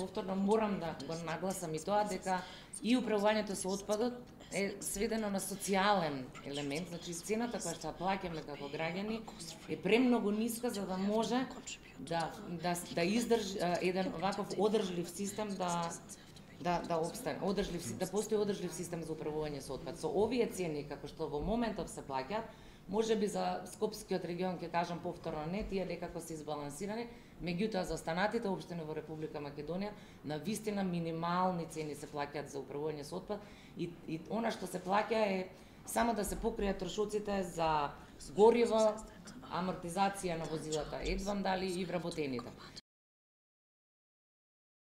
повторно морам да го нагласам и тоа дека и управувањето со отпадот е сведено на социјален елемент, значи цената која што ја плаќаме како граѓани е премногу ниска за да може да издржи еден ваков одржлив систем да обстане, да постои одржлив систем за управување со отпад. Со овие цени како што во моментов се плаќаат, можеби за Скопскиот регион ќе кажам повторно не, тие некако се избалансирани, меѓутоа за останатите општини во Република Македонија на вистина минимални цени се плаќаат за управување со отпад и она што се плаќа е само да се покријат трошоците за гориво, амортизација на возилата, едвам дали и вработените.